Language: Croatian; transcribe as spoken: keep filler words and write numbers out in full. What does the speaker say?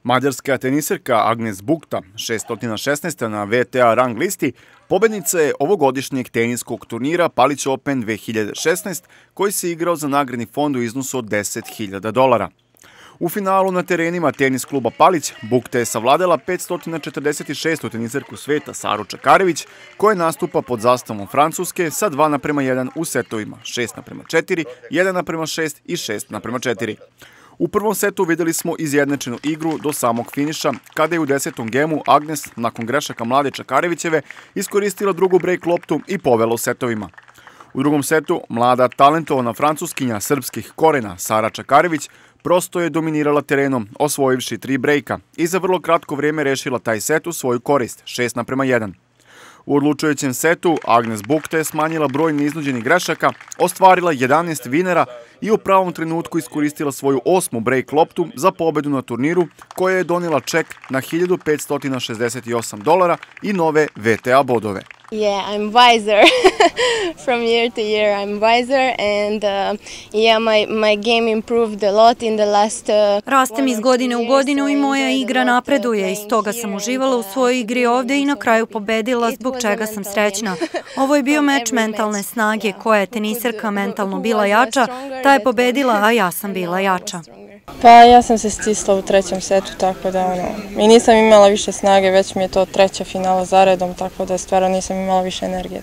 Mađarska teniserka Agnes Bukta, šesto šesnaesta na V T A rang listi, pobednica je ovogodišnjeg teniskog turnira Palić Open dve hiljade šesnaest, koji se igrao za nagradni fond u iznosu od deset hiljada dolara. U finalu na terenima tenis kluba Palić, Bukta je savladala petsto četrdeset šestu teniserku sveta Saru Čakarević, koja nastupa pod zastavom Francuske sa dva naprema jedan u setovima šest naprema četiri, jedan naprema šest i šest naprema četiri. U prvom setu videli smo izjednačenu igru do samog finiša, kada je u desetom gemu Agnes, nakon grešaka mlade Čakarevićeve, iskoristila drugu brejk loptu i povela u setovima. U drugom setu, mlada talentovana francuskinja srpskih korena Sara Čakarević prosto je dominirala terenom, osvojivši tri brejka i za vrlo kratko vrijeme rešila taj set u svoju korist, šest naprema jedan. U odlučujućem setu Agnes Bukta je smanjila broj neiznuđenih grešaka, ostvarila jedanaest vinera i u pravom trenutku iskoristila svoju osmu brejk loptu za pobedu na turniru, koja je donela ček na hiljadu petsto šezdeset osam dolara i nove V T A bodove. Yeah, I'm wiser from year to year. I'm wiser and uh, yeah, my my game improved a lot in the last. Uh, Rastem iz godine u godinu i moja igra napreduje. Iz toga sam uživala u svojoj igri ovde i na kraju pobedila, zbog čega sam srećna. Ovo je bio meč mentalne snage, koja je teniserka mentalno bila jača, ta je pobedila, a ja sam bila jača. Pa ja sam se stisla u trećem setu, tako da ono, i nisam imala više snage, već mi je to treća finala zaredom, tako da stvarno nisam imala više energije.